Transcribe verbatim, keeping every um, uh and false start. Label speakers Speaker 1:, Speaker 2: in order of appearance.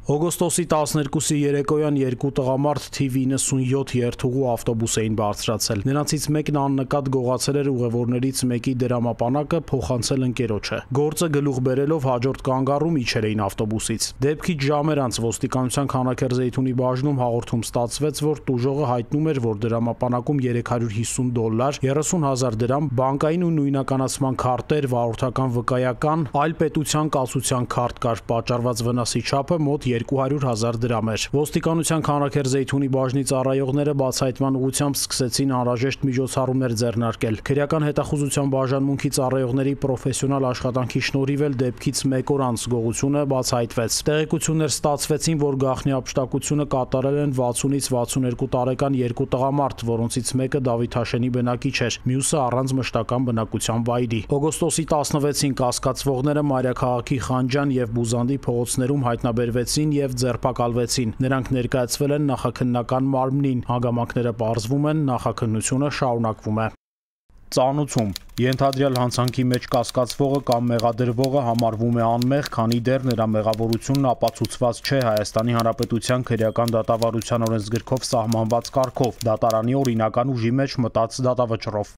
Speaker 1: Օգոստոսի տասներկուսի երեկոյան երկու տղամարդ թիվ իննսունյոթ երթուղու ավտոբուս էին բարձրացել։ Նրանցից մեկն աննկատ գողացել էր ուղևորներից մեկի դրամապանակը փոխանցել ընկերոջը։ Գործը գլուխ բերելով հաջորդ կանգառում իջել էին ավտոբուսից։ Դեպքից ժամեր անց ոստիկանության Քանաքեռ-Զեյթունի բաժնում հաղորդում ստացվեց, որ տուժողը հայտնում էր, որ դրամապանակում երեք հարյուր հիսուն դոլար, երեսուն հազար դրամ, բանկային ու նույնականացման քարտեր, վարորդական վկայական, այլ պետության կասության քարտ կար, պատճառված վնասի չափը մոտ երկու հարյուր հազար դրամ էր։ Ոստիկանության Քանաքեռ-Զեյթունի բաժնի ծառայողները բացահայտման ուղղությամբ սկսեցին անհրաժեշտ միջոցառումներ ձեռնարկել։ Քրեական հետախուզության բաժանմունքի ծառայողների պրոֆեսիոնալ աշխատանքի շնորհիվ էլ դեպքից մեկ օր անց գողությունը բացահայտվեց։ Տեղեկություններ ստացվեցին, որ գաղտնի ապշտակությունը կատարել են վաթսունից վաթսուներկու տարեկան երկու տղամարդ, որոնցից մեկը Դավիթաշենի բնակիչ էր, մյուսը առանց մշտական բնակության վայրի։ Օգոստոսի տասնվեցին կասկածվողները Մայրաքաղաքի Խանջան եւ Բուզանդի փողոցներում հայտնաբերվեցին եւ ձերբակալվեցին։ Նրանք ներկայացվել են նախաքննական մարմնին։ Հանգամանքները պարզվում են, նախաքննությունը շարունակվում է։ Ծանուցում ենթադրյալ հանցանքի մեջ կասկածվողը կամ մեղադրվողը համարվում է անմեղ, քանի դեռ նրա մեղավորությունն ապացուցված չէ Հայաստանի Հանրապետության քրեական դատավարության օրենսգրքով սահմանված կարգով, դատարանի օրինական ուժի մեջ մտած դատավճռով։